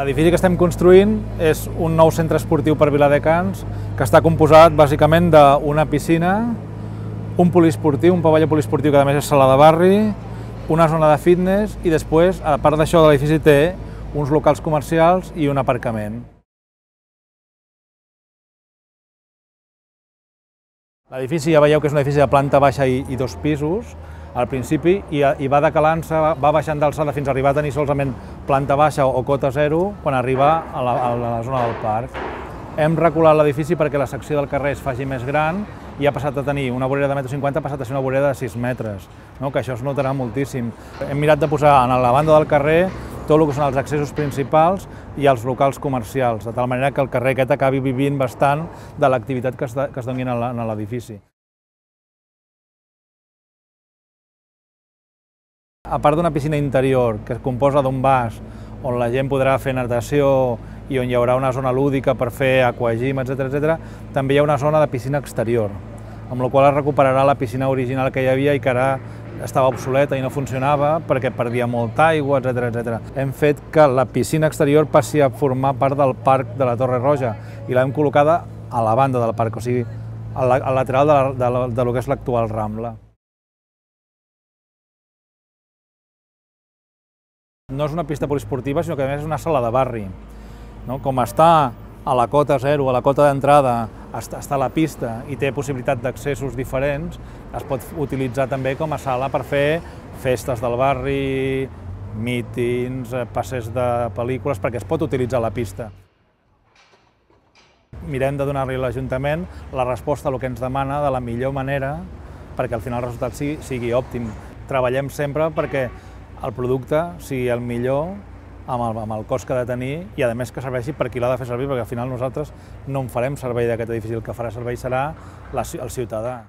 L'edifici que estem construint és un nou centre esportiu per Viladecans que està composat bàsicament d'una piscina, un poliesportiu, un pavelló poliesportiu que a més és sala de barri, una zona de fitness i després, a part d'això, l'edifici té uns locals comercials i un aparcament. L'edifici ja veieu que és un edifici de planta baixa i 2 pisos, al principi, i va decalant-se, va baixant d'alçada fins a arribar a tenir solament planta baixa o cota zero quan arriba a la zona del parc. Hem reculat l'edifici perquè la secció del carrer es faci més gran i ha passat a tenir una vorera de 1,50 m, ha passat a ser una vorera de 6 metres, que això es notarà moltíssim. Hem mirat de posar a la banda del carrer tot el que són els accessos principals i els locals comercials, de tal manera que el carrer aquest acabi vivint bastant de l'activitat que es doni en l'edifici. A part d'una piscina interior que es composa d'un vas on la gent podrà fer natació i on hi haurà una zona lúdica per fer aquagym, etc., també hi ha una zona de piscina exterior, amb la qual es recuperarà la piscina original que hi havia i que ara estava obsoleta i no funcionava perquè perdia molta aigua, etc. Hem fet que la piscina exterior passi a formar part del parc de la Torre Roja i l'hem col·locada a la banda del parc, o sigui, al lateral de lo que és l'actual Rambla. No és una pista poliesportiva, sinó que a més és una sala de barri. Com està a la cota zero, a la cota d'entrada, està la pista i té possibilitat d'accessos diferents, es pot utilitzar també com a sala per fer festes del barri, mítings, passes de pel·lícules, perquè es pot utilitzar la pista. Mirem de donar-li a l'Ajuntament la resposta a el que ens demana de la millor manera perquè al final el resultat sigui òptim. Treballem sempre perquè el producte sigui el millor amb el cost que ha de tenir i a més que serveixi per qui l'ha de fer servir, perquè al final nosaltres no en farem servei d'aquest edifici, el que farà servei serà el ciutadà.